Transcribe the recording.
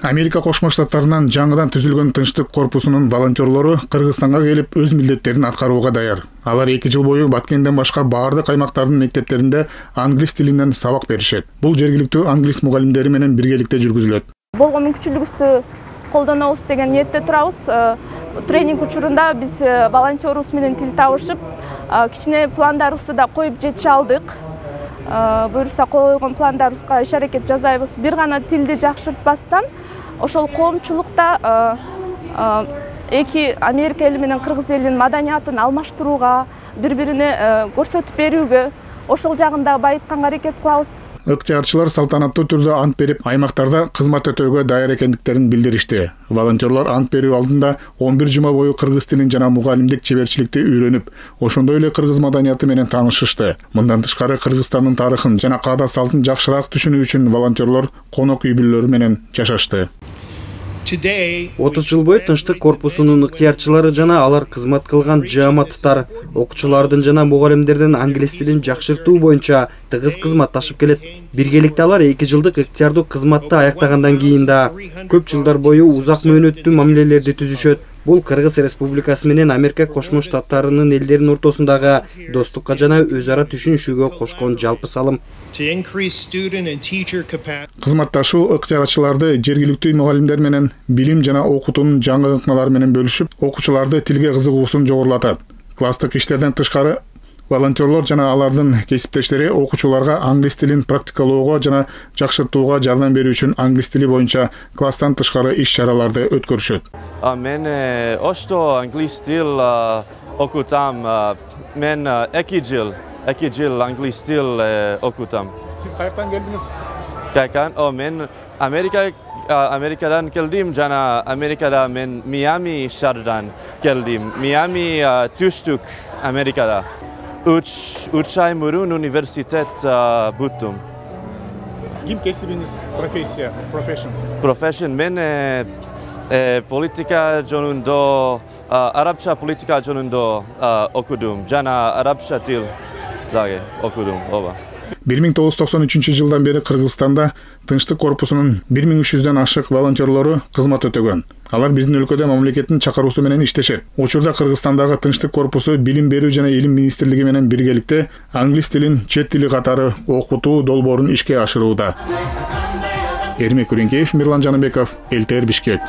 Америка Кошмо Штаттарынан жаңыдан түзүлгөн Тынчтык корпусунун волонтерлору Кыргызстанга келип өз милдеттерин аткарууга даяр. Алар 2 жыл бою Баткенден башка баардык аймактардын мектептеринде англис тилинен сабак беришет. Бул жергиликтүү англис мугалимдери менен биргеликте жүргүзүлөт. Болгон мүмкүнчүлүгүбүздү колдонобуз деген ниетте турабыз. Тренинг учурунда биз волонтерубуз менен тил табышып, кичине пландарыбызды да коюп жетише алдык. Буюрса койгон пландарыбызга иш-аракет жасайбыз. Бир гана тилди жакшыртпастан, ошол коомчулукта эки Америка эли менен Кыргыз элинин маданиятын алмаштырууга, бири-бирине көрсөтүп берүүгө, ошол жагында байытканга аракет кылабыз. Ыктыярчылар салтанаттуу түрдө ант берип, аймактарда кызмат өтөөгө даяр экендиктерин билдиришти. Волонтерлор ант берүү алдында 11 жума бою кыргыз тилин жана мугалимдик чеберчиликти үйрөнүп, ошондой эле кыргыз маданияты менен таанышышты. Мындан тышкары Кыргызстандын тарыхын жана каада салтын жакшыраак түшүнүү үчүн волонтерлор конок үй бүлөлөрү менен жашашты. 30 жыл бою Тынчтык корпусунун ыктыярчылары жана алар кызмат кылган жааматтар окуучулардын жана мугалимдердин англис тилин жакшыртуу боюнча тыгыз кызматташып келет. Биргеликте алар 2 жылдык ыктыярдуу кызматты аяктагандан кийин да көп жылдар бою узак мөөнөттүү мамилелерди түзүшөт. Бул Кыргыз Республикасы менен Америка Кошмо Штаттарынын элдеринин ортосундагы достукка жана өз ара түшүнүшүүгө кошкон жалпы салым. Кызматташуу ыктыярчыларды жергиликтүү мугалимдер менен билим жана окутуунун жаңы ыкмалары менен бөлүшүп, окуучуларды тилге кызыгуусун жогорулатат. Класстык иштерден тышкары волонтерлор жана алардын кесиптештери окуучуларга англис тилин практикалоого жана жакшыртууга жардам берүү үчүн англис тили боюнча класстан тышкары иш-чараларды өткөрүшөт. Мен ошто англис тил окутам. Мен 2 жыл англис тил окутам. Сиз каяктан келдиңиз? Мен Америкадан келдим жана Америкада мен Миами шаарынан келдим. Миами түштүк Америкада. 3 ай мурун университет буттум. Ким кесибиңиз, профессия, Profession мен политика жөнүндө, арабча политика жөнүндө окудум, жана арабча тил дагы окудум. 1993 жылдан бери Кыргызстанда Тынчтык корпусунун 1300дөн ашык волонтерлору кызмат өтөгөн. Алар биздин өлкөдө мамлекеттин чакыруусу менен иштешет. Учурда Кыргызстандагы Тынчтык корпусу билим берүү жана илим министрлиги менен биргеликте англис тилин чет тили катары окутуу долбоорун ишке ашырууда. Эрмек Үреңкеев, Мирлан Жаныбеков, ЛТР Бишкек.